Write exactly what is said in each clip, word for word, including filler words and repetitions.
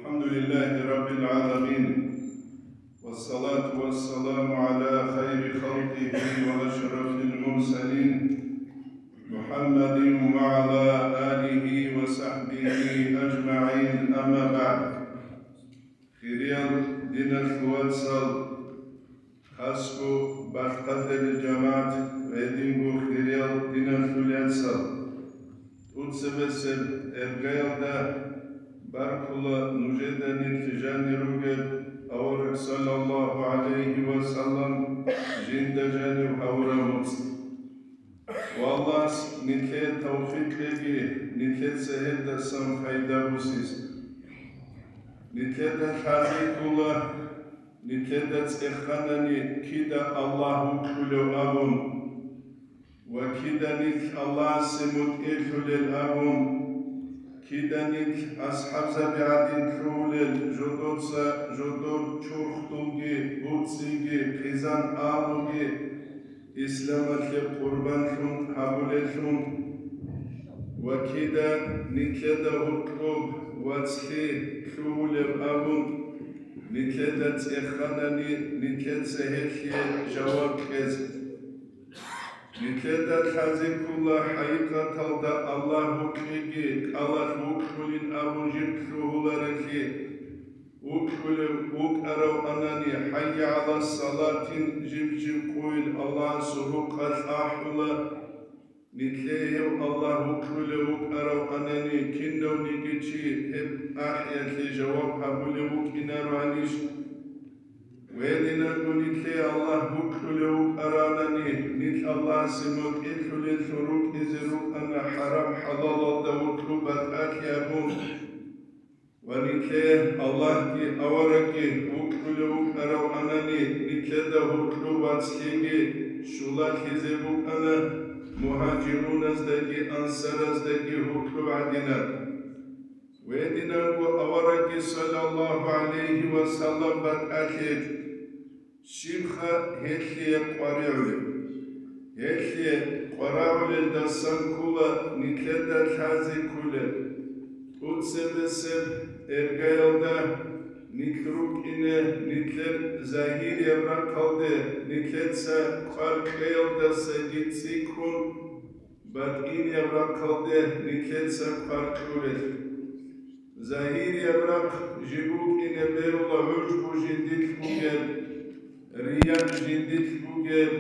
الحمد لله رب العالمين، والصلاة والسلام على خير خلقه وأشرف المرسلين، محمد وعلى آله وصحبه أجمعين، أما بعد. Хириял диналъул вацал, хасго бахъатарил жамагӀат ва гьединго хириял диналъул яцал. ТӀуцебесеб иргаялда баркула нужеда нилъ жанир ругел авараг саллаллагьу гӀалайгьи ва саллам жинда жанив гьавураб моцӀ. Ва Аллагьас нилъее тавфикъ кьеги, нилъеца гьелдасан пайда босизе. Нилъеда лъазе ккола, нилъеда цӀеханани кида Аллагь вукьулев абун ва кида нилъ Аллагьасе мутӀигӀлъулел абун, кида нилъ асхӀабзаби гӀадин лъугьулел жодоца жодор чурхдулги, буцӀцӀиги, хъизан агьлуги, исламалъе къурбанлъун гьабулеллъун ва кида нилъеда гьоркьоб вацлъи лъугьулеб абун, нилъеда цӀеханани нилъеца гьелъие жаваб кьезе. Нилъеда лъазе ккола хӀакъикъаталда Аллагь вукьиги кӀалалъ вукьулин абун жиб лъугьуларелъи, вукьулев вукӀаравани, хӀайя гӀала салатин жиб-жиб къойил Аллагьасул рукъалъ ахӀула. Нилъее гьев Аллагь вукьулев вукӀаравани, кинавниги чи гьеб ахӀиялъе жаваб гьабулев вукӀинароанищ? Гьединанго нилъее Аллагь вукьулев вукӀаравани, нилъ Аллагьасе мутӀигӀлъулеллъун рукӀине рукӀана хӀарам-хӀалалалда вукьу батӀалъи абун. Ва нилъее Аллагьги аварагги вукьулев вукӀаравани, нилъеда гьоркьоб вацлъиги щулалъизе букӀана мугьажируназдаги ансараздаги гьоркьоб гӀадинаб. Гьединанго аварагги саллаллагьу гӀалайгьи ва саллам батӀалъи гьечӀо. Щибха гьелъие къваригӀулеб? Гьелъие къваригӀулелдасан ккола нилъеда лъазе кколел. ТӀуцебесеб иргаялда нилъ рукӀине, нилъер загьирияб рахъалде нилъеца квар кьеялдасаги цӀикӀкӀун, батӀинияб рахъалде нилъеца квар кьурелъ. Загьирияб рахъ жиб букӀине берула гӀужбу жиндилъ бугеб, рия жиндилъ бугеб,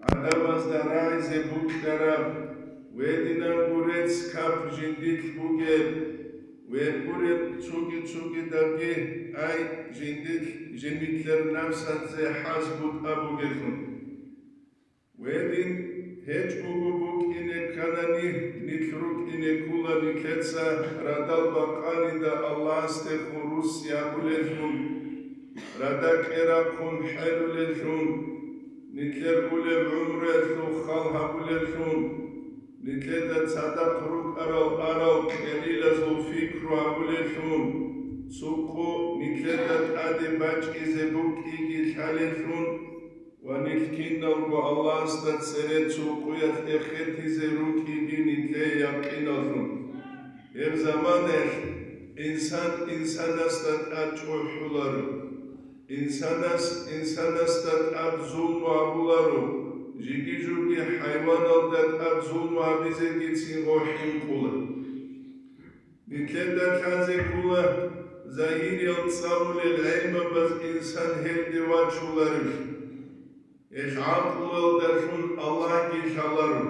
гӀадамазда рагӀизе букьараб, гьединанго рецц-кап жиндилъ бугеб, гьеб гуреб цоги-цогидабги, ай, жиндилъ жинилъер напсазе хӀаз бутӀа бугелъул. Гьедин гьечӀого букӀине кканани, нилъ рукӀине ккола нилъеца радал бакъанида Аллагьасдехун русс ябулеллъун, рада кьерахъун хӀелулеллъун, нилъер улеб гӀумруялъул хал гьабулеллъун, нилъеда цадахъ рукӀарал арал кьерилазул пикру гьабулеллъун, цо къо нилъеда тӀаде бачӀизе букӀиги лъалеллъун, ва нилъ киналго Аллагьасда цере цо къоялъ эхетизе рукӀиги нилъее якъиналлъун. Гьеб заманаялъ инсан инсанасда тӀад чӀухӀуларо, инсанас инсанасда тӀад зулму гьабуларо, жиги-жуги хӀайваналда тӀад зулму гьабизегицин гъо хӀинкъула. Нилъеда лъазе ккола загьириял цӀалулел гӀелмабаз инсан гьелде вачуларев. Гьелъ гӀакълуялдалъун Аллагьги лъаларо.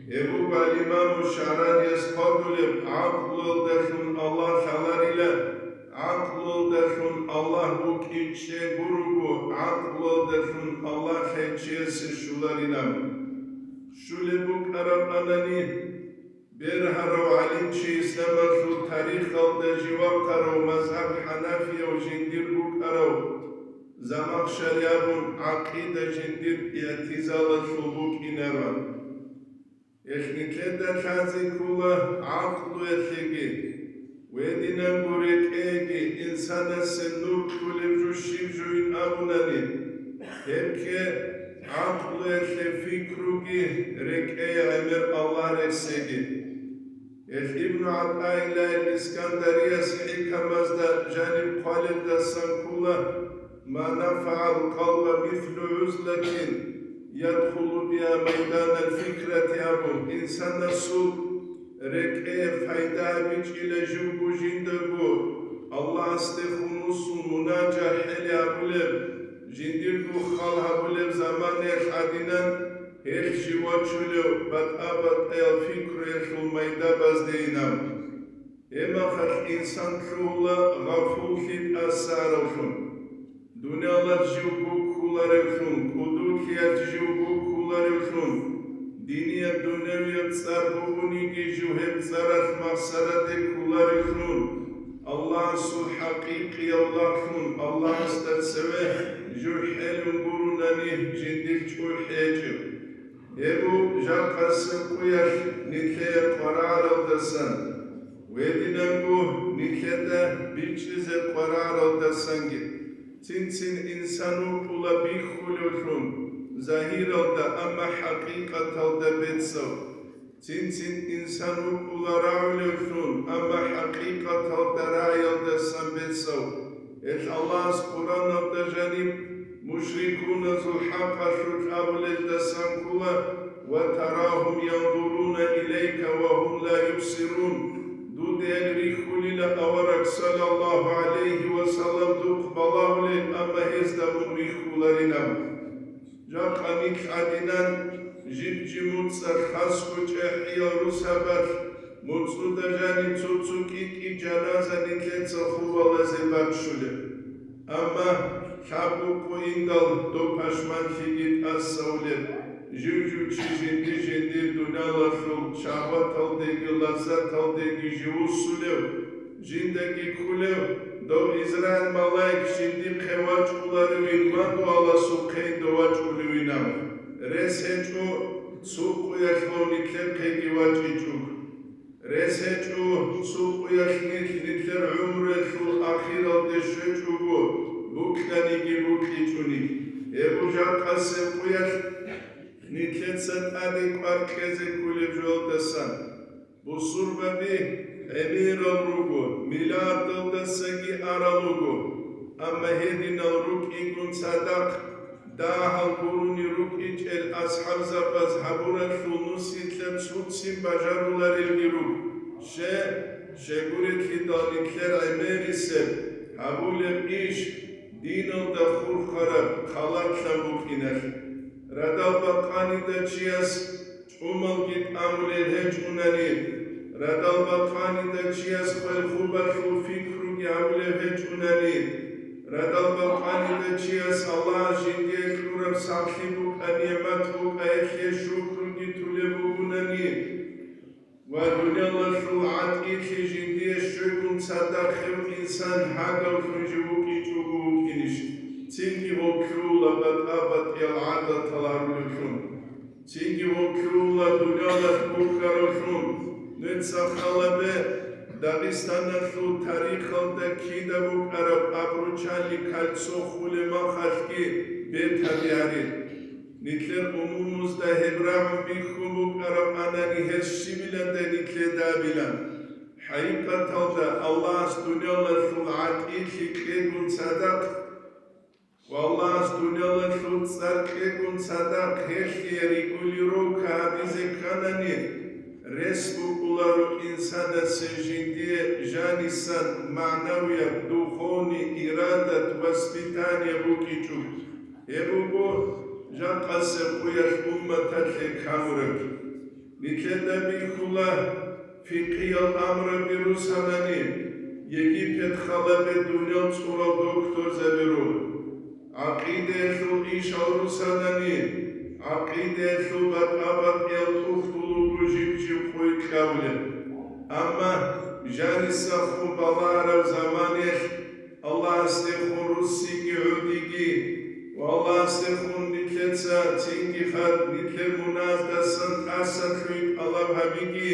Гьеб буго ал-Имаму ШагӀранияс хъвалеб: гӀакълуялдалъун Аллагь лъаларила, гӀакълуялдалъун Аллагь вукӀинчӀего руго, гӀакълуялдалъун Аллагь лъай чиясе щуларилан. Щулеб букӀараб анани, бергьарав гӀалимчи исламалъул тарихалда жив вахъарав мазгьаб хӀанафияв жиндир букӀарав Замахшари абун гӀакъида жиндир игӀтизалалъул букӀинаран. Гьелъ нилъеда лъазе ккола гӀакълуялъеги, гьединанго рекӀеги инсанасе нур кьолеб жо щиб жоин абунани, гьебги гӀакълуялъе пикруги рекӀее гӀемер Аллагь рехсеги. Гьел Ибну ГӀатӀаиллагьил Искандарияс хӀикамазда жаниб хъвалелдасан ккола: «Ма нафагӀал къалба мислу гӀузлатин ядхулу биа майданал фикрати», абун, инсанасул рекӀее пайда гьабичӀила живго жиндаго Аллагьасдехун вуссун мунажат хӀели гьабулеб, жиндирго хал гьабулеб заманаялъ гӀадинан, гьелъ жив вачулев батӀа-батӀаял пикруялъул майда баздейинав. Гьеб мехалъ инсан лъугьула гъафуллъи тӀасаравлъун, дуниялалъ жив гуккуларевлъун, кӀудулъиялъ жив гуккуларевлъун, динияб-дунявияб цӀар бугониги жив гьеб цӀаралъ махсараде кколаревлъун, Аллагьасул хӀакъикъияв лагълъун Аллагьасда цеве жив хӀелун гурунани жиндир чӀухӀи гьечӀеб. Гьеб жакъасеб къуялъ нилъее къваригӀаралдасан, гьединанго нилъеда бичӀчӀизе къваригӀаралдасанги. Цин-цин инсан вукӀула бихьулевлъун загьиралда, амма хӀакъикъаталда бецав. Цин-цин инсан вукӀула рагӀулевлъун, амма хӀакъикъаталда рагӀиялдасан бецав. Гьелъ Аллагьас Къуръаналда жаниб мушрикуназул хӀакъалъулъ абулелдасан ккола: «Ва тарагьум яндуруна илайка ва гьум ла юбсирун». Дуде гьел рихьулила, авараг, саллаллагьу гӀалайгьи ва саллам, духъ балагьулел, амма гьезда мун вихьуларинаб. Жакъа нилъ гӀадинан жиб-жиб муцӀалъ хасго чӀехӀиял русабалъ, муцӀуда жаниб цо-цо кӀи-кӀи жаназа нилъеца хубалазе баччулеб. Амма лъабго къо индал доб пашманлъиги тӀасавулеб, жив-жив чи жинди-жиндир дуниялалъул шагьваталдеги лаззаталдеги живуссулев, жиндаги кколев, дов Израил малаик жиндихъе вачӀуларевин ва дуаласухъе дов вачӀулевинав. Рес гьечӀо цо къуялъ нилъехъеги вачӀичӀого. Рес гьечӀо цо къуялъ нилъ нилъер гӀумруялъул ахиралде щвечӀого, букьаниги букьичӀони. Гьеб жакъасеб къуялъ нилъеца тӀаде кӀвар кьезе кколеб жоялдасан. Бусурбаби гӀемерал руго, миллиардалдасаги арал руго, амма гьединал рукӀигун цадахъ дагьал гурони рукӀинчӀел асхӀабзабаз гьабуралъул нусилъа цуцин бажаруларелги руго. Ще, щегурелъидал нилъер гӀемерисеб гьабулеб иш диналда хурхараб халатлъан букӀиналъ. Радал бакъанида чияс чӀумалги тӀамулел гьечӀунани, радал бакъанида чияс хвел-хубалъул пикруги гьабулев гьечӀунани, радал бакъанида чияс Аллагьас жиндие кьураб сахлъи букӀа, нигӀмат букӀа, гьелъие шукруги тулеб бугунани ва дуниялалъул гӀатӀилъи жиндие щвегун цадахъ гьев инсан гьагавлъун жив вукӀичӀого вукӀинищ, цинги гьев лъугьула батӀа-батӀиял гӀадатал гьарулевлъун. Цинги гьев лъугьула дуниялалъ бухьаравлъун, нуца халабе Дагъистаналъул тарихалда кида букӀараб Обручальный кольцо хулеб махалъги бетаби гьари. Нилъер умумузда гьеб рагӀун бихьун букӀараб анани гьес щибиландай нилъеда абилан. ХӀакъикъаталда Аллагьас дуниялалъул гӀатӀилъи кьегун цадахъ, Аллагьас дуниялалъул цӀар кьегун цадахъ гьелъие регулировка гьабизе кканани, рес букӀуларо инсанасе жиндие жанисан магӀнавияб, духовный, ирадат, воспитание букӀичӀого. Гьеб буго жакъасеб къуялъ умматалъе камураб. Нилъеда бихьула, фикъиял амраби русанани, Египет халабе дуниял цӀурал докторзаби рун. ГӀакъидаялъул ишал русанани, гӀакъидаялъул батӀа-батӀиял тухтул руго жиб-жиб къуй кьабулеб. Амма жанисахъун балагьараб заманаялъ Аллагьасдехун руссиги гӀодиги ва Аллагьасдехун нилъеца цинги хад нилъер муназдасан тӀасалъуй тӀалаб гьабиги,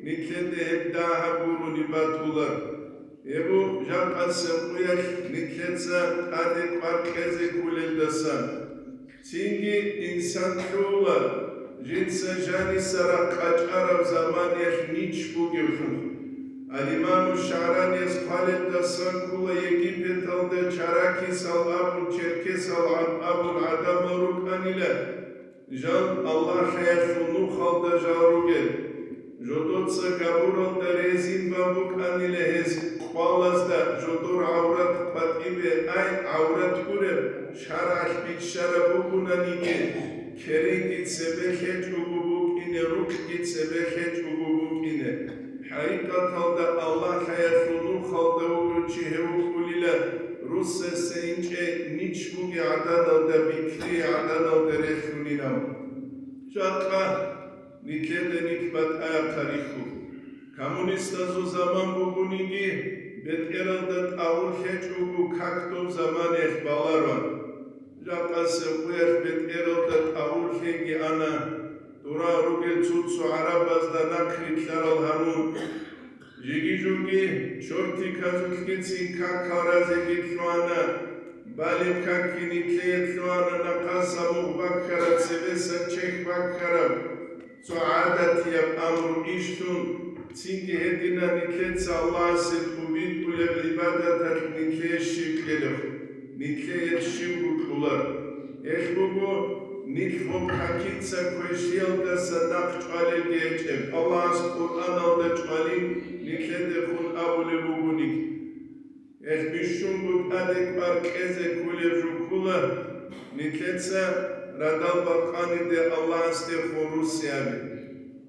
нилъеде гьеб дагьаб гурони батула. Гьеб жакъасеб къуялъ нилъеца тӀаде кӀвар кьезе кколелдасан. Цинги инсан лъугьула, Жинца жаниса ракъачӀараб заманиялъ нич бугевлъун. Ал-Имаму ШагӀранияс хъвалелдасан ккола Египеталда чаракисал абун, черкесал гӀад-, абун гӀадамал рукӀанила. Жал Аллагьлъиялъул нухалда жал ругел. Жодоца габуралда резин бан букӀанила гьез къвалазда, жодор гӀаврат къватӀибе, ай, гӀаврат гуреб, шаргӀалъ биччараб бугунаниги, керенги цебе лъечӀого букӀине, рукъги цебе лъечӀого букӀине. ХӀакъикъаталда Аллагьлъиялъул нухалда вугев чи гьев вукӀунила, русасе инчӀей нич бугей гӀаданалда, бикри гӀаданалда релълъунилан. Жакъа нилъеда нилъ батӀаяхъа рихьу. Коммунистазул заман бугониги, бетӀералда тӀагъур лъечӀого как доб заманиялъ балароан. Жакъасеб къуялъ бетӀералда тӀагъур лъеги ана, дура ругел цо-цо гӀарабазда нахърилълъарал гьарун. Жиги-жуги чортиказулъгицин какал разеги лъугьана, балеб какги нилъее лъугьана, нахъаса мугъ баккараб, цебеса чехь баккараб. Цо гӀадатияб амру ишлъун, цинги гьедина нилъеца Аллагьасе тӀубитӀулеб гӀибадаталъ нилъее щиб кьелеб, нилъее щибго кьолар. Гьелъ буго, нилъ гъоб какица квешлъиялдаса нахъ чӀвалелги гьечӀеб, Аллагьас Къуръаналда чӀвалин нилъедехун абулеб бугониги. Гьелъ бищунго тӀаде кӀвар кьезе кколеб жо ккола, нилъеца радал бакъаниде Аллагьасдехун русиаби.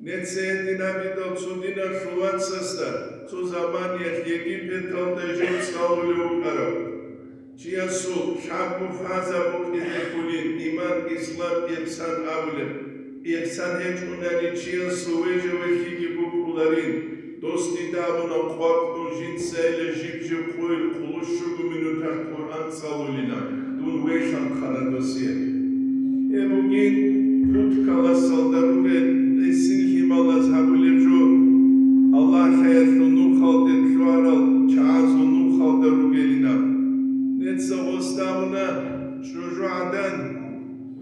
Нецце гьединабидал цо диналъул вацасда цо заманиялъ Египеталда жив цӀалулев вукӀарав. Чиясул лъабго фаза букӀине кколин: иман, ислам, ихсан абулеб. Ихсан гьечӀунани чиясул вежа-вехиги букӀуларин. Дос дида абуна къвакӀун жинцайила жиб-жиб къойил къулущуго минуталъ Къуръан цӀалулина, дун вехьанхъана досие. Гьеб бугин путкаласалда ругел гӀисин лъималаз гьабулеб жо, Аллагьлъиялъул нухалде лъугьарал чагӀазул нухалда ругелинаб. Нецца гъосда абуна чӀужугӀадан,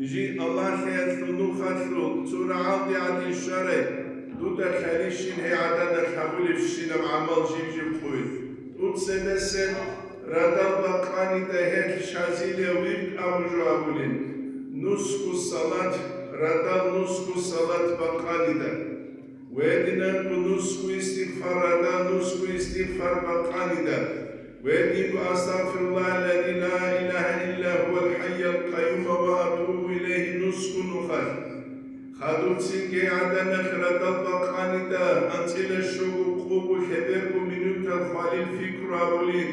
жи Аллагьлъиялъул нухалъул цо рагӀалде гӀадин щварай, дуда лъалищин гьей гӀаданалъ гьабулебщинаб гӀамал жиб-жиб къойил. Дуца бесен радал бакъанида гьелъ шазилия вирд абу жо абулин, нусгу салат, радал нусгу салат бакъанида. Гьединанго нусгу истигъфар, радал нусгу истигъфар бакъанида. Гьединго астагъфируллагьаллази ла илагьа илла гьувал хӀайял къаюма ва атубу илайгьи нусгу нухалъ. Хадубцинги гьей гӀаданалъ радал бакъанида, анцӀила щуго къого лъеберго минутал хвалил пикру абулин.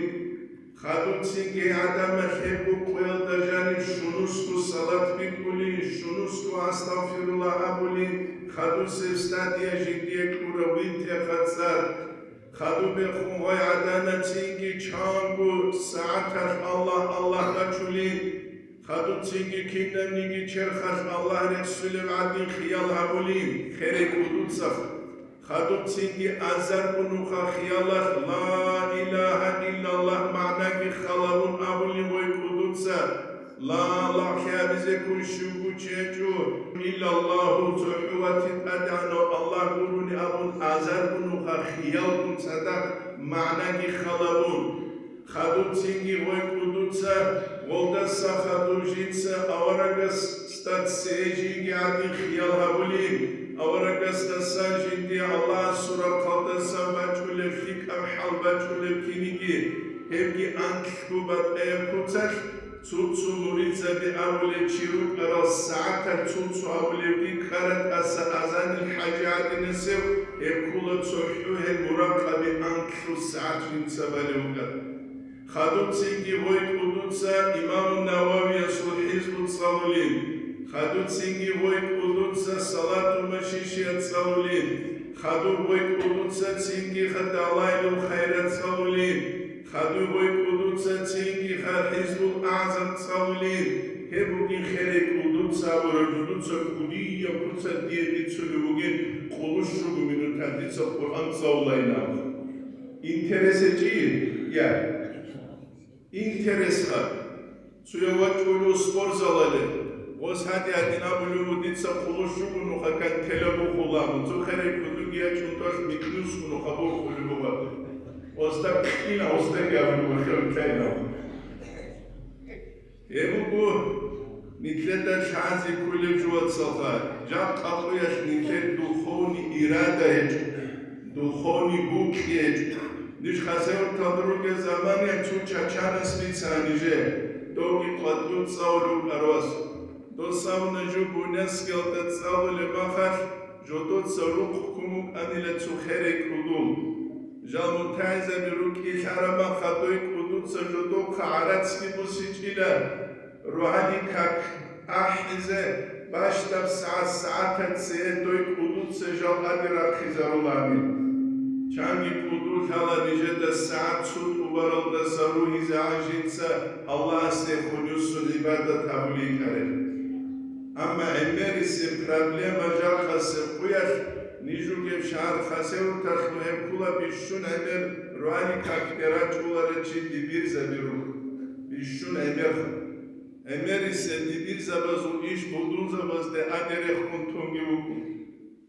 Хадубцинги гьей гӀаданалъ гьеб къоялда жаниб щунусго салат битӀулин, щунусго астагъфируллагь абулин, хадусеб стадия жиндие кьурав витӀехъа цӀар. Хадубехун гъой гӀаданалъ цинги чанго сагӀаталъ Аллагь, Аллагь бачулин. Хадубцинги кинабниги черхалъ Аллагь рехсулеб гӀадин хиял гьабулин, херекӀо дуцаха. Хадубцинги азарго нуха хиялалъ ла илагьа иллаллагь магӀнаги халабун абулин гъой кӀудуца, ла лагълъи абизе ккун щивго чи гьечӀо, иллаллагьу, цохӀо ватин тӀадегӀанав Аллагь гурони абун азарго нуха хиялгун цадахъ магӀнаги халабун. Хадубцинги гъой кӀудуца, гъолдаса хадуб жинца аварагасда цее жинги гӀадин хиял гьабулин, аварагасдасан жиндие Аллагьасул рахъалдасан бачӀулеб лъикӀаб хӀал бачӀулеб киниги, гьебги анкьго батӀаяб куцалъ, цо-цо муридзаби абулел чи рукӀарал сагӀаталъ цо-цо абулебги ккара тӀаса азанил хӀажи гӀадинасев, гьеб ккола цохӀо гьеб муракъаби анкьго сагӀат жинца балев вукӀар. Хадубцинги гъой кӀудуца Имаму Нававиясул хӀизбу цӀалулин, хадубцинги гъой кӀудуца Салату Машишия цӀалулин, хадуб гъой кӀудуца цинги хадалайлул хайрат цӀалулин, хадуб гъой кӀудуца цинги ха хӀизбул агӀзам цӀалулин, гьеб бугин херекӀул дуца абураб жо, дуца кӀудияб куцалъ дие бицунеб бугин, къулущуго минуталъ дица Къуръан цӀалулайин абун. Интерес гьечӀин? Я. Интерес гьаб. Цояв вачӀунев спортзалалде. Ос гьадин-гьадин абулев вуго, дица къулущ вуго нуха, гантела бухула, цо херай кӀудуги ячӀун тӀолъ микьнусго нуха бухулеб буго. Осда кьина, осдаги абулеб буго, хев кьайна. Гьеб буго нилъеда лъазе кколеб жо, вацалха, жакъа къоялъ нилъер духовный ирада гьечӀо, духовный букӀи гьечӀо. Ниж Хасавюрталда ругел заманаялъ цо чачанас бицана нижее, довги къватӀив цӀалулев вукӀарав вас. Дос абуна, жо Буйнакскиялда цӀалулеб махалъ, жодоца рукъ ккун букӀанила цо херай кӀудул. Жал мутагӀилзаби рукӀин лъараб махалъ дой кӀудуца жодохъа гӀарацги бусичӀила, рогьалил как ахӀизе, бащдаб сагӀат-сагӀатаца дой кӀудуца жал аде рахъизарулани. Чанги кӀудул лъала нижеда сагӀат цо тӀубаралдаса ругьизе гӀанжинца Аллагьасде хунюсун гӀибадат гьабулей кӀарел. Амма гӀемерисеб проблема жакъасеб къуялъ ниж ругеб шагьар Хасавюрталъул гьеб ккола бищун гӀемер рогьалил какде рачӀунарел чи дибирзаби руго. Бищун гӀемерха. ГӀемерисеб дибирзабазул иш будунзабазде аде рехун тунги вукӀун.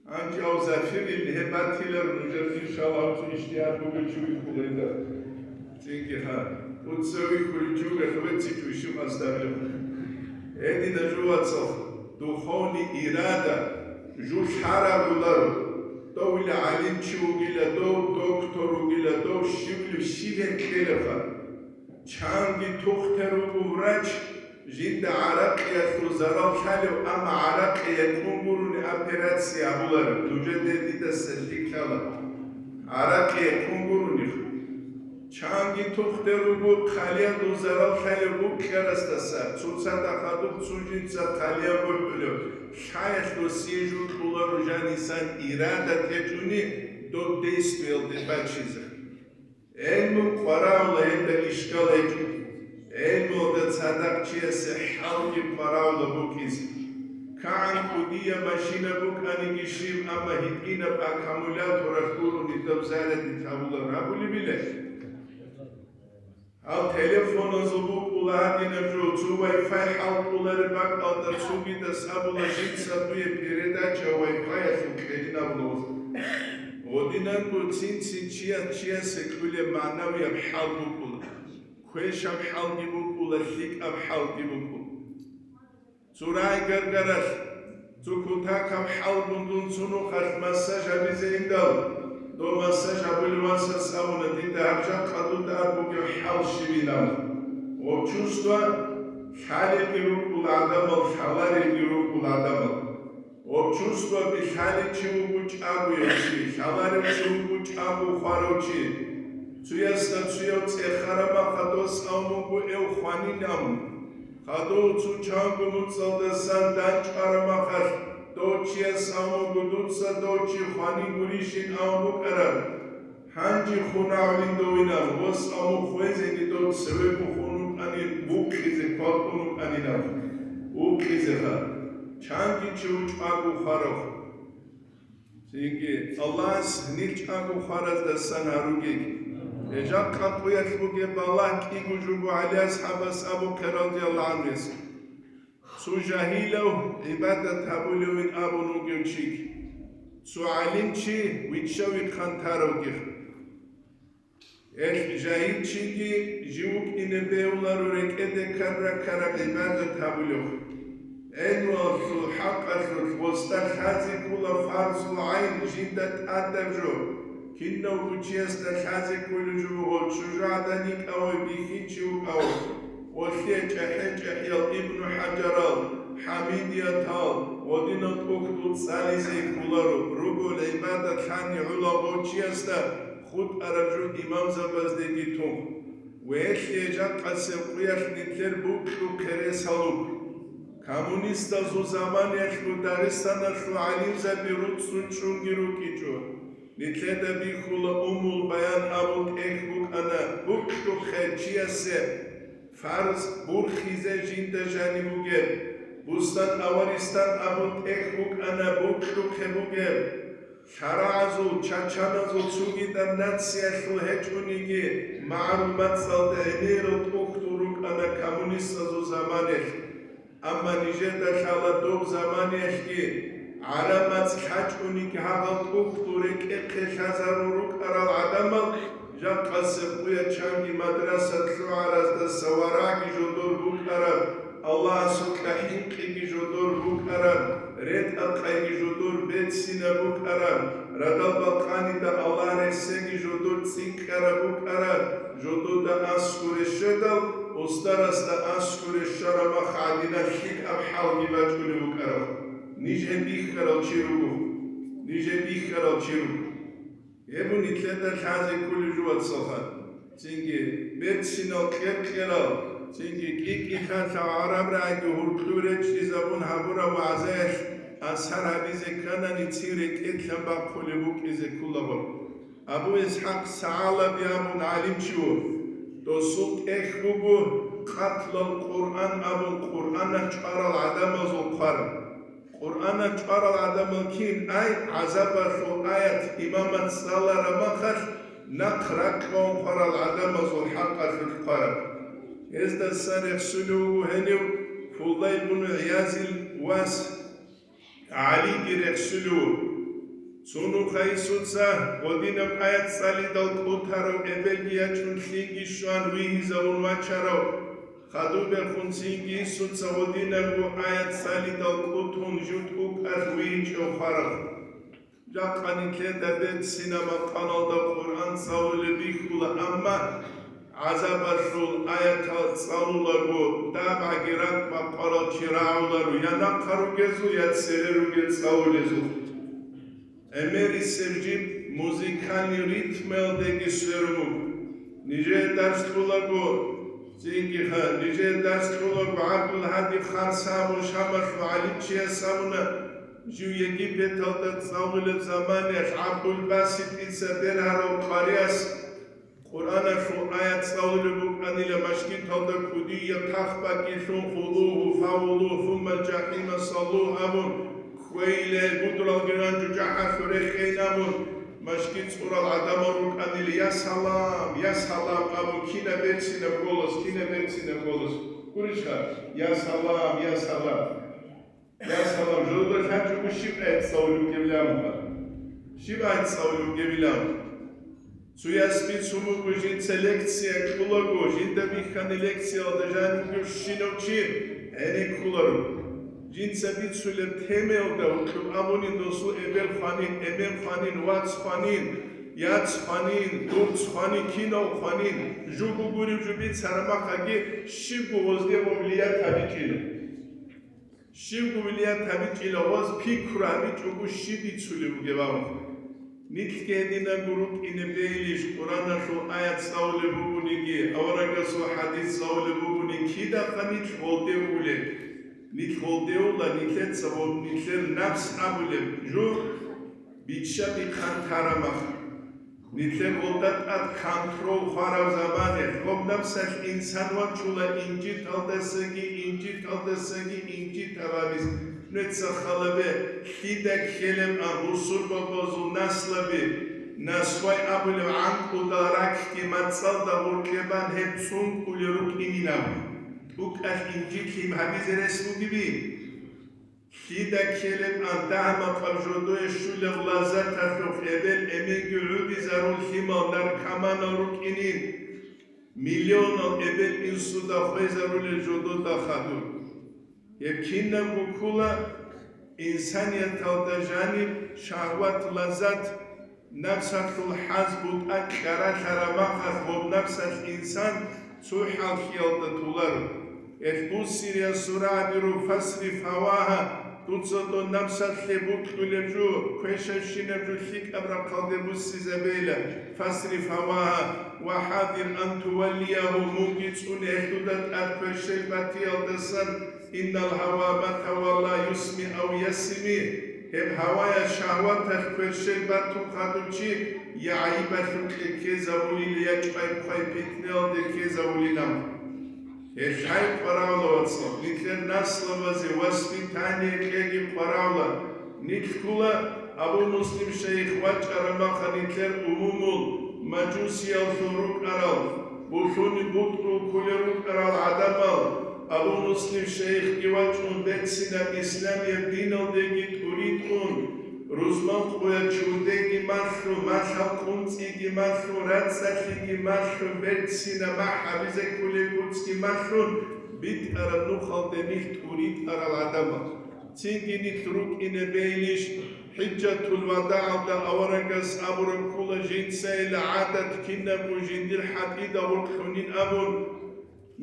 Гьанже гьав Зафирил гьеб батилар нужер, иншаллагь, цо иштият бугев чи вихьулеб. Цинги ха, дуца вихьулев чи вугелъул веццичӀо ишив къасдабилеб. Гьедина жо, вацал, духовный ирада, жо лъараб гӀоларо. Дов ила гӀалимчи вугила, дов доктор вугила, дов щивлев щиб гьеб кьелебха. Чанги тухтер вуго врач, жинда гӀаракъиялъул зарал лъалев, амма гӀаракъи гьекъун гурони операция гьабулареб, нужеде дидаса лъикӀ лъала. ГӀаракъи гьекъун гурони. Чанги тухтер вуго хъалиялъул зарал лъалев букӀарасдаса, цоцазда хадуб цо жинца хъалиял бухӀулев, лъаялъ досие жо кьоларо жанисан ирада течӀони доб действиялде бачизе. ГӀелму къварагьула гьелда ишкал гьечӀо. ГӀелмуялда цадахъ чиясе хӀалги къварагьула букӀизе. КигӀан кӀудияб машина букӀаниги щиб, амма гьитӀинаб аккумуляторалъ гурони доб зарядить гьабулеб гьабулебила. Гьал телефоназул букӀула гьадинаб жо, цо Wi-Fi хӀалтӀулареб бакӀалда цогидас абула, жинца дуе передача Wi-Fi-ялъул кьелин абула. Гьединанго цин-цин чияс чиясе кьулеб магӀнавияб хӀал букӀула, квешаб хӀалги букӀула, лъикӀаб хӀалги букӀула. Цо рагӀи-гаргаралъ, цо кутакаб хӀалгун дун цо нухалъ массаж гьабизе индал, дов массаж гьабулев васас абуна, дида гьаб жакъа дуда бугеб хӀал щибилан. Гъоб чувство лъалелги рукӀула гӀадамал, лъаларелги рукӀула гӀадамал. Гъоб чувствоби лъалев чи вуго чӀагояв чи, лъаларев чи вуго чӀаго хварав чи. Цоясда цояв цӀехараб махалъ дос абун буго эв хванин абун. Хадув цо чанго нуцӀалдасан данчӀвараб махалъ дов чияс абун буго, дуца дов чи хванин гурищин абун букӀараб. Гьанже хун гьавлин довинаб, гъос абун хвезеги дов цевего хун вукӀанин, вукъизе кватӀун вукӀанинаб, вукъизеха. Чанги чи вуго чӀаго хварав. Цинги Аллагьас гьанир чӀаго хвараздасан гьаругеги. Гьеб жакъа къуялъ бугеб балагь кӀиго жо буго ГӀали асхӀабас абухъе, радияллагьу гӀангьуяс. Цо жагьилав гӀибадат гьабулевин абун вугев чиги, цо гӀалимчи вичча-вихъан таравги. Гьелъ жагьилчиги жив вукӀине бегьуларо рекӀеде ккараб-ккараб гӀибадат гьабулев. ГӀелмуялъул хӀакъалъулъ гъосда лъазе ккола фарзул гӀайн жинда тӀадаб жо. Кинавго чиясда лъазе кколеб жо буго чӀужугӀадан йикӀавай бихьинчи вукӀавай. Гъолъие чӀахӀи-чӀахӀиял Ибну ХӀажарал, ХӀамидиятал, гъодинал тӀухьдул цӀализе кколаро, ругел гӀибадат лъани гӀоло гъов чиясда хутӀараб жо имамзабаздеги тун. Ва гьелъие жакъасеб къуялъ нилъер букьухъе рес гьалуг. Коммунистазул заманаялъго Дагъистаналъул гӀалимзаби руцӀцӀун чӀунги рукӀинчӀо. Нилъеда бихьула Уммул Баян абун тӀехь букӀана, букьухъе чиясе фарз бурхизе жинда жаниб бугеб, Бустан-аваристан абун тӀехь букӀана, букьухъе бугеб. ШарагӀазул, чачаназул цогидаб нациялъул гьечӀониги, магӀарул мацӀалда гӀемерал тӀухьдул рукӀана коммунистазул заманаялъ. Амма нижеда лъала доб заманиялъги гӀараб мацӀ лъачӀониги гьагъал тӀухьдул рекӀехъе лъазарун рукӀарал гӀадамал жакъасеб къуя чанги мадраса лъугӀараздаса варагӀги жодор букӀараб, Аллагьасукьа хӀинкъиги жодор букӀараб, ретӀа-къайги жодор берцинаб букӀараб, радал бакъанида Аллагь рехсеги жодор цӀикӀкӀараб букӀараб, жодода аскӀоре щведал, устарасда аскӀоре щвараб мах гӀадинаб лъикӀаб хӀалги бачӀунеб букӀараб. Ниж гьеб бихьарал чи руго. Ниж гьеб бихьарал чи руго. Гьеб нилъеда лъазе кколеб жо, вацалха. Цинги берцинал кьер-кьерал, цинги кӀи-кӀи хьалъа гӀараб рагӀиги гьуркьуб речӀчӀизабун гьабураб вагӀзаялъ асар гьабизе кканани, цин рекӀелъан бахъулеб букӀизе кколаго. Абу ИсхӀакъ СагӀалаби абун гӀалимчи вуго. Досул тӀехь буго Къатлал Къуръан абун, Къуръанал чӀварал гӀадамазул хъвараб. Къуръанал чӀварал гӀадамал кин ай, гӀазабалъул аят имамас цӀалараб махалъ, нахъ ракьун хъварал гӀадамазул хӀакъалъулъ хъвараб. Гьездасан рехсулев вуго гьенив Фудайл бун ГӀиязил вас ГӀалиги рехсулев вуго. Цо нухъа инсуца гьодинаб аят цӀалидал кӀутарав, эбелги ячӀун лъинги щван вигьизавун вачарав, хадубехун цинги инсуца гьодинабго аят цӀалидал кӀутун жутӀукӀалъ вигьичӀев хварав. Жакъа нилъеда берцинаб макъамалда Къуръан цӀалулеб бихьула, амма гӀазабалъул аятал цӀалулаго, дагӀбаги ракӀ бакъварал чи рагӀуларо я нахъа ругезул, я цере ругел цӀалулезул. ГӀемерисеб жиб музыкальный ритмалдеги сверун буго. Нижее дарс кьолаго, цинги-, нижее дарс кьолаго ГӀабдулгьади Харса абун Шамалъул гӀалимчияс абуна, жив Египеталда цӀалулеб заманаялъ ГӀабдулбаситица бергьарав къарияс Къуръаналъул аят цӀалулеб букӀанила, машгиталда кӀудияб тахбакӀилъун, «Хузугьу фагъуллугьу, суммал жахӀима саллугь», абун, кквейила, гьел гудралги ранчӀо жагьалъур рехейин абун, машгит цӀурал гӀадамал рукӀанила, «Я салам, я салам», абун, кинаб берцинаб голос, кинаб берцинаб голос. Гурищха? «Я салам, я салам». Я салам, жодор лъачӀого щиб гӀецӀцӀавулев гевлъамха? Щиб гӀецӀцӀавулев гевилан? Цояс бицун буго жинца лекция кьулаго, жинда бихьани лекциялда жанивгев щинав чи гӀенеккуларо. Жинца бицулеб темаялда гьоркьоб абунин досул эбел хванин, эмен хванин, вац хванин, яц хванин, дурц хванин, кинав хванин, жуго гуреб жо бицараб махаги щибго гъозде гъов лият гьабичӀила. Щибго вилият гьабичӀила, гъоз пикру гьабичӀого щиб бицулеб бугеб абун. Нилъги гьединабго рукӀине бегьилищ, Къуръаналъул аят цӀалулеб бугониги, аварагасул хӀадис цӀалулеб бугони, кидахъа нилъ гъолде улеб? Нилъ гъолде ула, нилъеца гъоб нилъер напс абулеб жо биччаби хъантарамах. Нилъер гъолда тӀад контрол хвараб замане, гъоб напсалъ инсан вачула инжиталдасаги, инжиталдасаги инжитаб абиз. Нуца халабе, лъида ккелеб ан бусурбабазул наслаби, насвай абулеб гӀанкӀудал ракьги мацӀалда гъоркье бан гьеб цӀункӀулел рукӀинилан. ТӀукӀалъ инжит лъим гьабизе рес бугеби? Лъида ккелеб ан дагьа-макъаб жодое щулеб лаззаталъухъ эбел-эменги гӀудизарул лъимал наркоманал рукӀинин, миллионал эбел-инсуда хвезарулел жодода хадур. Гьеб кинабго ккола инсанияталда жаниб шагьват-лаззат. Напсалъул хӀаз бутӀа кьаралъараб махалъ гъоб напсалъ инсан цо хӀалхьиялда толаро. Гьелъ буссирияс сурагӀаби руго: «Фасриф гьавагьа», дуца дун напсалъе бокьулеб жо, квешабщинаб жо лъикӀаб рахъалде буссизабейила. «Фасриф гьавагьа ва хӀазир ан туваллиягьу», мунги цӀуне гьелъуда тӀад кверщел батиялдасан. «Иннал гьава ма тавалла юсми ав ясми», гьеб гьаваялъ, шагьваталъ кверщел батун хадуб чи я гӀайибалъукье ккезавулила, я чӀвай-хъвай питнаялде ккезавулила. Гьелъ къваравла, вацал, нилъер наслабазе воспитание кьеги къваравла. Нилъ ккола Абу Муслим шайих вачӀараб махалъ нилъер умумул мажусияллъун рукӀарал, булъуни бутӀрул кколел рукӀарал гӀадамал, Абу Муслим шейхги вачӀун, берцинаб исламияб диналдеги тӀуритӀун, рузман къоялъ чурдеги малъун, малъал къунцӀиги малъун, рацӀцӀалъиги малъун, берцинаб махӀ гьабизе кколеб гуцӀги малъун, битӀараб нухалде нилъ тӀуритӀарал гӀадамал. Цинги нилъ рукӀине бейилищ, хӀиджатул вадагӀалда аварагас абураб ккола, жинцайила гӀадат кинабго жиндир хӀатӀида гъоркь лъунин абун.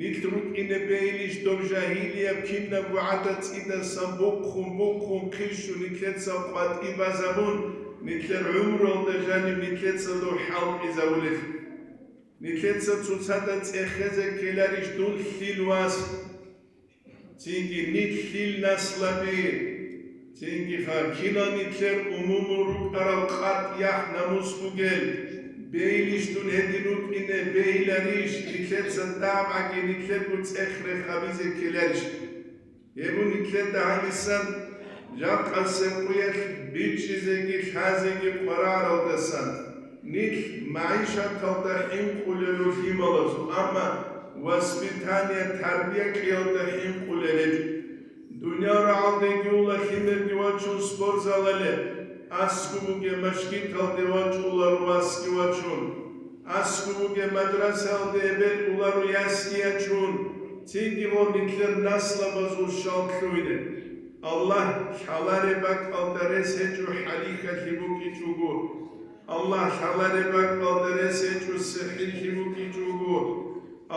Нилъ рукӀине бейилищ доб жагьилияб кинабго гӀадат цӀидасан бухъун-бухъун хъирщун нилъеца къватӀи базабун, нилъер гӀумруялда жаниб нилъеца доб хӀалтӀизабулелъул? Нилъеца цоцазда цӀехезе ккеларищ дун лъил вас? Цинги нилъ лъил наслаби, цинги ха кинал нилъер умумул рукӀарал къатӀ-яхӀ-намус бугел, бейилищ дун гьедин рукӀине, бейиларищ нилъеца дагӀбаги нилъерго цӀех рехабизе ккеларищ? Гьеб нилъеда гьанисан жакъасеб къуялъ бичӀчӀизеги лъазеги къвараралдасан, нилъ магӀишаталда хӀинкъулел рухӀималазул, амма воспитание, тарбия кьиялда хӀинкъулел гьечӀо. Дуниял рагӀалдеги ула лъимерги вачун спортзалале, аскӀов бугеб машгиталде вачӀула васги вачун, аскӀов бугеб мадрасаялде эбел уларо ясги ячун, цинги гъо нилъер наслабазул щал лъугьине. Аллагь лъалареб бакӀалда рес гьечӀо хӀалихьалъи букӀичӀого. Аллагь лъалареб бакӀалда рес гьечӀо сихӀирлъи букӀичӀого.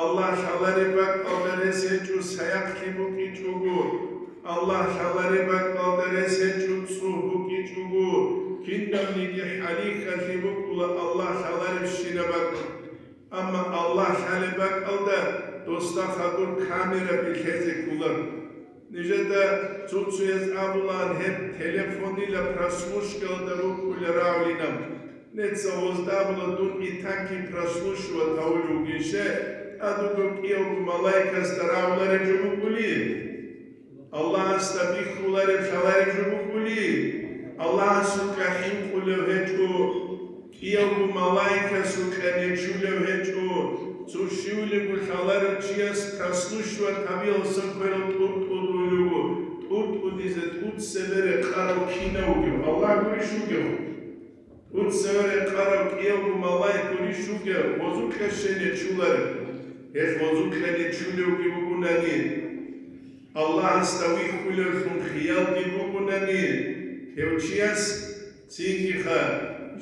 Аллагь лъалареб бакӀалда рес гьечӀо саяхълъи букӀичӀого. Аллагь лъалареб бакӀалда рес гьечӀо цӀугь букӀичӀого. Кинабниги хӀалихьалъи букӀула Аллагь лъаларебщинаб бакӀалда. Амма Аллагь лъалеб бакӀалда досда хадур камера билъезе кколар. Нижеда цо-цояз абулаан гьеб телефонила прослушкаялда рукӀула рагӀулинаб. Неца гъозда абула дун итаки прослушивать гьавулев вугищ, тӀадуго кӀиявго малаикасда рагӀулареб жо букӀули? Аллагьасда бихьулареб лъалареб жо букӀули? Аллагьасукьа хӀинкъулев гьечӀо, кӀиявго малаикасукьа нечулев гьечӀо. Цо щивлего лъаларев чияс прослушивать гьабиялсан кверал тӀуртӀудулев вуго, тӀуртӀудизе тӀуцебе рекъарав кинав вугев? Аллагь гурищ вугев? ТӀуцеве рекъарав кӀиявго малаик гурищ вугев, гъозукьа щай нечуларев? Гьелъ гъозукьа нечулевги вугунани, Аллагьасда вихьулевлъун хиялги бугунани, гьев чияс цинги-ха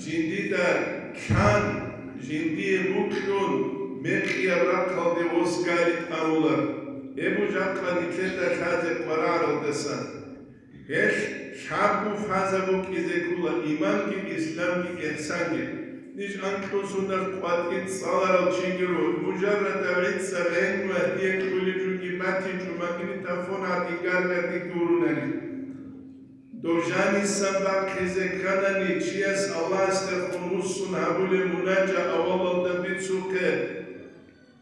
жиндида лъан, жиндие букьун, мекъияб рахъалде восгали тӀамулар. Гьеб жакъа нилъеда лъазе къвараралдасан. Гьелъ лъабго фаза букӀизе ккола: иманги, исламги, ихсанги. Ниж анкьун сундалъ къватӀир цӀаларал чиги руго, мужаррада гӀицӀа гӀелму гьадиялъулеб жуги батичӀо, магнитофон гьадин гаргадин гурунани. Дов жанисан бахъизе кканани, чияс Аллагьасдехун вуссун гьабулеб мунажа авалалда бицухъе.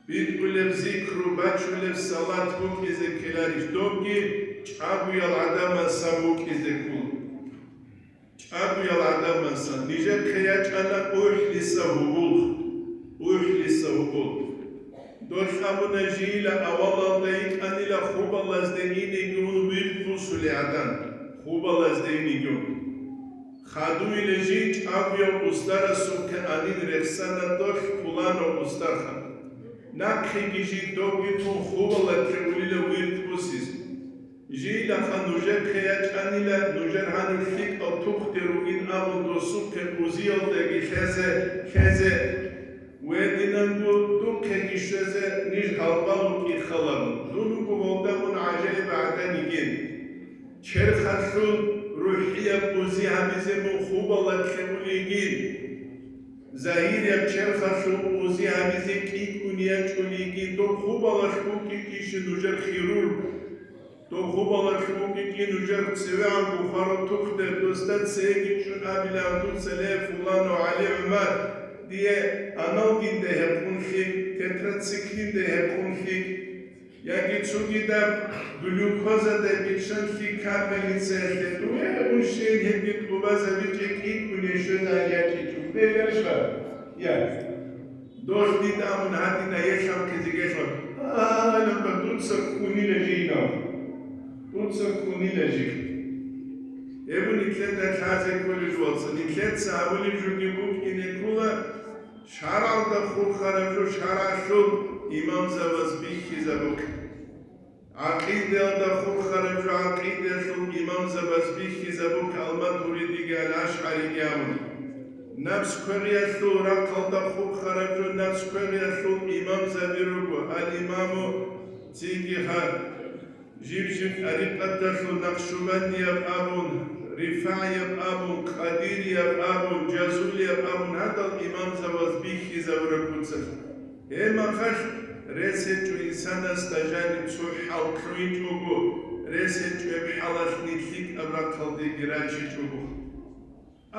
БитӀулеб зикру, бачулеб салат букӀизе ккеларищ? Добги чӀагоял гӀадамасан букӀизе ккола. ЧӀагоял гӀадамасан. Нижехъе ячӀана УхӀлиса гьубулх. УхӀлиса гьубулх. Долъ абуна жийила авалалда йикӀанила хубалазде инеги ун вирд бусулей гӀадан. Хубалазде инеги ун. Хадуйила жий чӀагояв устарасухъе анин рехсана долъ пуланав устарха. Нахъеги жий добги тун хубалалъе улила вирд бусизе. Жийилаха нужехъе ячӀанила, нужер гьанив лъикӀав тухде ругин абун досухъе узиялдаги лъезе, лъезе. Гьединанго духъеги щвезе ниж гьалбал вукӀин халабун. Дун вуго гьолда мун гӀажаиб гӀадан йигин. Черхалъул рухӀияб узи гьабизе мун хубалалъе улейгин, загьирияб черхалъул узи гьабизе кӀикӀкӀун ячӀулейгин, доб хубалалъ букӀинищин нужер хирур? Доб хубалалъ букӀинищин нужер цевегӀан бухараб тухде, досда цеги чӀун абилан, дуца: «Ле, фуланав ГӀали-ГӀумар, дие аналгиндай гьекъун лъикӀ, тетрациклиндай гьекъун лъикӀ». Яги цогидаб глюкозадай биччан лъикӀ капельницаялъе дуе унщин гьебги тӀубазабичӀеб кӀикӀкӀунищ щвезегӀан ячӀичӀого. Бегьерищха? Я. Долъ дида абун гьадина, елъанхъизе гелъун. Гьалаб дуца ккунила жинав. Дуца ккунила жив. Гьеб нилъеда лъазе кколел вацал, нилъеца гьабулеб жоги букӀине ккола, шаргӀалда хурхараб жо шаргӀалъул имамзабаз бихьизабухъе. ГӀакъидаялда хурхараб жо гӀакъидаялъул имамзабаз бихьизабухъе, ал-Матуридиги ал-АшгӀариги абун. Напс квегъиялъул рахъалда хурхараб жо напс квегъиялъул имамзаби руго, ал-Имаму цинги гьаб. Жиб-жиб тӀарикъаталъул накъшубандияб абун, рифагӀияб абун, къадирияб абун, жазулияб абун гьадал имамзабаз бихьизабураб буцалъ. Гьеб мехалъ рес гьечӀо инсанасда жаниб цо хӀал лъугьинчӀого, рес гьечӀо гьеб хӀалалъ нилъ лъикӀаб рахъалдеги рачичӀого.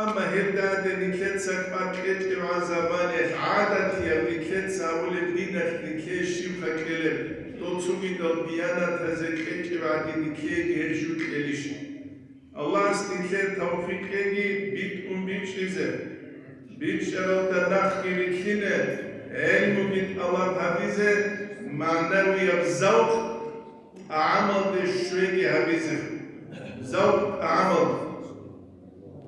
Амма гьеб данде нилъеца кӀвар кьечӀебгӀан заманаялъ гӀадатияб нилъеца гьабулеб диналъ нилъее щибха кьелеб, дол цогидал диянатазе кьечӀеб гӀадин нилъееги гьеб жо кьелищ? Аллагьас нилъее тавфикъ кьеги битӀун бичӀчӀизе, бичӀчӀаралда нахъги рилълъине, гӀелмуги тӀалаб гьабизе, магӀнавияб завкъ тӀагӀамалде щвеги гьабизе. Завкъ тӀагӀамалде.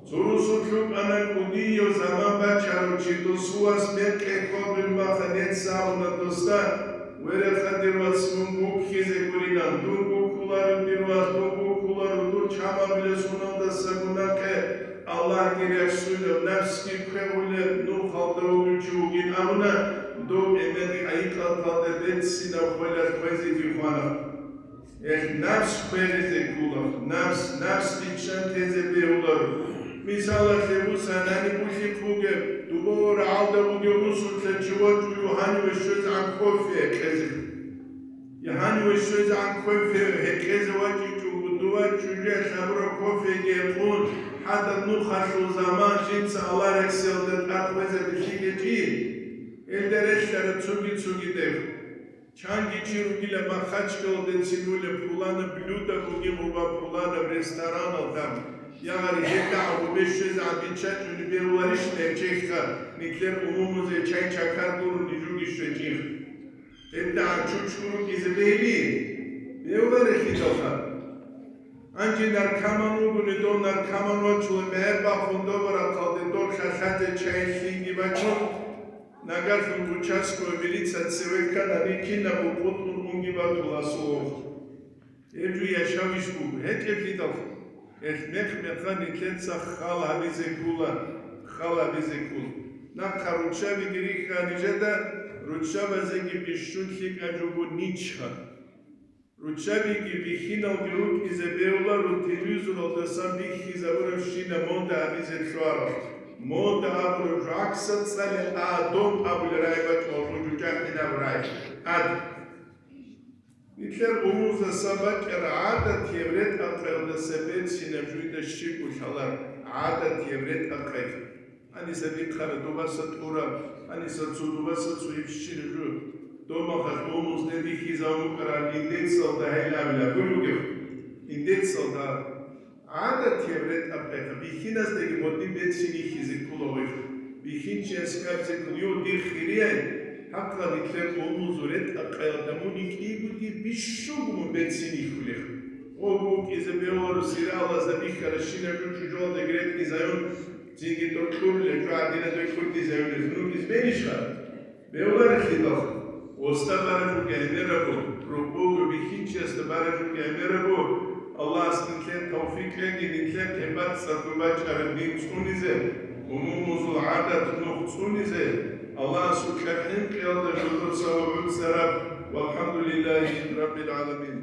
Цо росулъ вукӀана кӀудияв заман бачарав чи, досул вас мекъи хьвадулеб мехалъ гьес абуна досда: «Вереха, дир вас, мун гуккизе гурилан, дун гуккуларо, дир вас, дун гуккуларо, дур чамабилес гьуналдасаго нахъе Аллагьги рехсулеб, напсги квегъулеб, нухалда вугев чи вугин», — абуна, дов эмен хӀакъикъаталда берцинаб хвелалъ хвезеги хвана. Эх, напс квегъизе ккола, напс, напс биччан тезе бегьуларо. Мисалалъе, буса, гьаниб улъихъ бугеб, дубо рагӀалда бугев русулъа чи вачӀув гьаниве щвезегӀан кофе гьекъезе. Гьаниве щвезегӀан кофе гьекъезе вачӀичӀого, дова чӀужуялъ гьабураб кофеги гьекъун, гьадаб нухалъул заман жинца Аллагь рехсиялда тӀад хвезабилъи гьечӀин. Гьелда релълъараб цоги-цогидаб. Чанги чи ругила Махачкалалде цӀинулеб пуланаб блюдо бугеб ва пуланаб ресторанал там, ягъари гьеб дагӀа гъубе щвезегӀан биччачӀунеб бегьуларищ нечехха, нилъер умумузе чай-чакар гурони жуги щвечӀин? Гьеб дагӀа чучго рукӀизе бегьилищ? Бегьуларелъидалха. Гьанже наркоман вугони, дов наркоман вачула, мегӀер бахун добурахъалде дов лъалъазе чай лъиги бачун, нагагь участковый милиция цеве ккана, рикинаб букъутун унги батула асул вохун. Гьеб жо яшавищ буго, гьечӀеблъидал. Эх, мех-мехалъ нилъеца хал гьабизе ккола, хал гьабизе ккола. Нахъа руччабиги рихьа нижеда, руччабазеги бищун лъикӀаб жо буго ничха. Руччабиги бихьиналги рукӀизе бегьуларо телевизоралдасан бихьизабурабщинаб мода гьабизе лъугьарал. Мода абураб жо гӀаксат цӀале, а дом абулеб рагӀи бачӀун гъужу жахӀинаб рагӀи. Ад. Нилъер умумуздасан бачӀараб гӀадатияб ретӀа-къелдаса берцинаб жо дида щибго лъаларо, гӀадатияб ретӀа-къел. Гьаниса дихъара дубаса тӀура, гьаниса цо дубаса цо ибщина жо. Домахъалъ умумузде бихьизабун букӀараб индецалда гьел абила гьуй бугеб. Индецалда гӀадатияб ретӀа-къелха бихьиназдаги гьодин берцин бихьизе ккола гъойлъ. Бихьинчияс абизе ккола, йо, дир хирияй, хӀакъа нилъер умумузул ретӀа-къелалда мун йикӀиго дир бищунго мун берцин бихьулеб. Гъо букӀизе бегьуларо, сериалазда бихьарабщинаб жо чӀужуялдаги ретӀизаюн, Цинги докторлъи гӀадинабе ккутӀизавулел нур избенищха? Бегьуларелъидал, осда баражуги гӀемерабу, рукъуго бихьинчиясда баражуги гӀемерабу, Аллагьас нилъер тавфикъ кьеги, нилъер гьеб бацӀцӀадго бачӀараб дин цӀунизе, умумузул гӀадат нух цӀунизе, Аллагьасукьа хӀинкъиялда жодоца ва гӀуцӀараб, валхӀамдулиллагьи раббил гӀаламин.